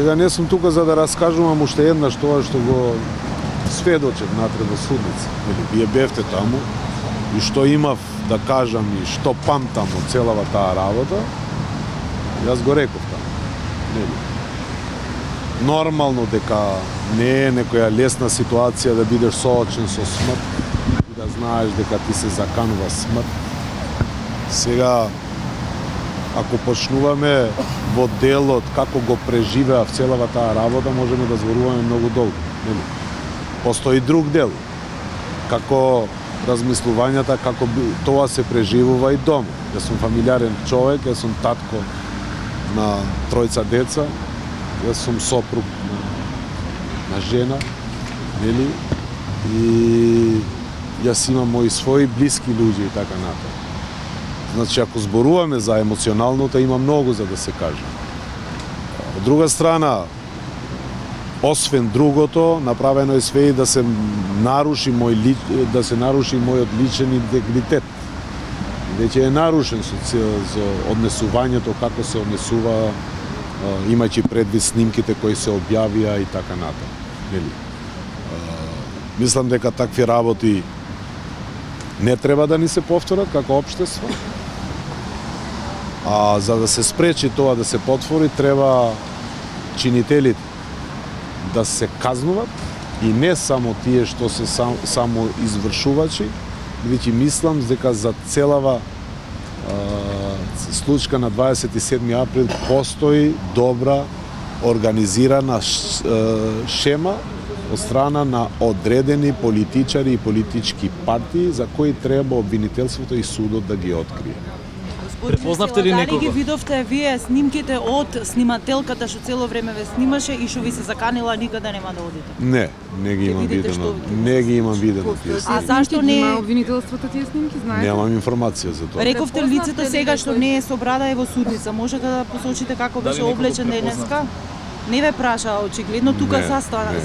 Сега не сум тука за да раскажувам уште еднаш тоа што го сведочев натре во судница. Вие бевте таму и што имав да кажам и што памтам од целава таа работа, јас го реков таму. Нормално дека не е некоја лесна ситуација да бидеш соочен со смрт и да знаеш дека ти се заканува смрт. Сега, ако почнуваме во делот како го преживеав целава таа работа, можеме да зборуваме многу долго. Постои друг дел, како размислувањата, како тоа се преживува и дома. Јас сум фамилиарен човек, јас сум татко на 3 деца, јас сум сопруг на жена, нели? И јас имам мои своји блиски луѓе и така натаму. Значи, ако зборуваме за емоционалното, има многу за да се каже. Од друга страна, освен другото, направено е све и да се наруши мојот личен интегритет. Веќе е нарушен со однесувањето, како се однесува, имајќи предвид снимките кои се објавија и така натаму. Мислам дека такви работи не треба да ни се повторат како општество. А за да се спречи тоа да се потвори, треба чинителите да се казнуват и не само тие што се само извршувачи, бидејќи мислам дека за целава случка на 27 април постои добра организирана шема од страна на одредени политичари и политички партии за кои треба обвинителството и судот да ги открие. Препознавте ли некого? Дали ги видовте вие снимките од снимателката што цело време ве снимаше и што ви се заканила никаде нема да одите? Не ги имам видено. Не ги имам видено тие снимки. А зашто не има обвинителството тие снимки, знаете? Немам информација за тоа. Рековте лицето сега што не е со брада е во судница. Можете да посочите како беше облечен денеска? Не ве праша, очигледно тука застана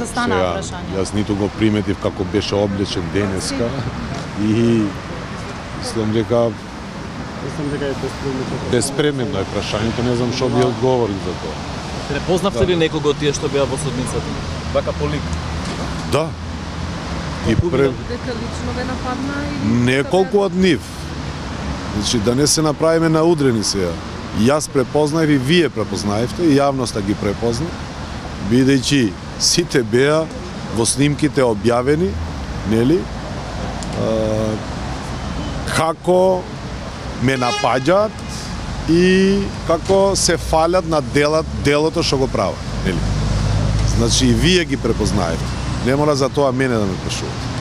прашање. Јас ниту го приметив како беше облечен денеска и мислам дека е безпременно е прашањето, не знам што би одговорил за тоа. Препознавте ли некого од тие што беа во судницата? Вака по лик? Да. И Дека лично ве нападна или неколку од нив. Значи да не се направиме наудрени сега. Јас препознаев и вие препознаевте и јавноста ги препозна, бидејќи сите беа во снимките објавени, нели? Како ме напаѓаат и како се фалят на делото што го прават, нели? Значи и вие ги препознаевте. Не мора за тоа мене да ме прашувате.